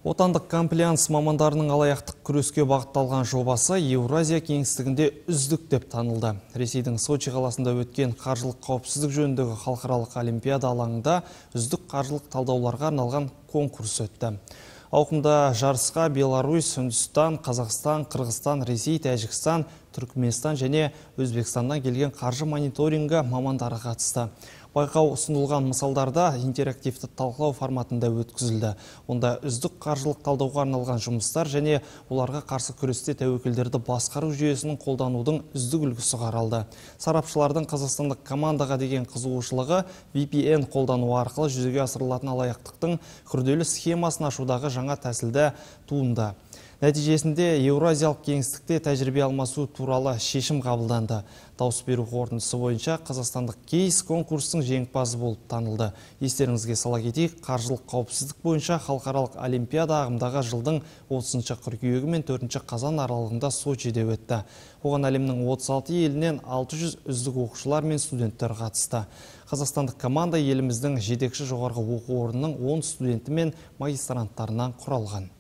Отандық комплианс мамандарының алаяқтық күреске бағытталған жобасы Еуразия кеңістігінде үздік деп танылды. Ресейдің Сочи қаласында өткен қаржылық қауіпсіздік жөніндегі халықаралық олимпиада алаңында үздік қаржылық талдауларға арналған конкурс өтті. Ауқымда жарысқа Беларусь, Үндістан, Қазақстан, Қырғызстан, Ресей, Тәжікстан, Түркменстан және Өзбекстаннан келген қаржы мониторингі мамандары қатысты. Байқау ұсынылған мысалдарда интерактивті талқылау форматында өткізілді. Онда үздік қаржылық талдауға арналған жұмыстар және оларға қарсы күресте тәуекелдерді басқару жүйесінің қолданудың үздік үлгісі қаралды. Сарапшылардың қазақстандық командаға деген қызығушылығы VPN қолдану арқылы жүзеге асырылатын алаяқтықтың күрделі схемасын ашудағы жаңа тәсілді туынды. Нәтижесінде Еуразиялық кеңістікте тәжірибе алмасу туралы шешім қабылданды. Дауыс беру қорытындысы бойынша қазақстандық кейс конкурстың жеңімпазы болып танылды. Естеріңізге сала кетейік, қаржылық қауіпсіздік бойынша халықаралық олимпиада ағымдағы жылдың 30 қыркүйегі мен 4 қазан аралығында Сочиде өтті. Оған әлемнің 36 елінен 600 үздік оқушылар мен студенттер қатысты. Қазақстандық команда еліміздің жетекші жоғарғы оқу орнының 10 студенті мен магистранттарынан құралған.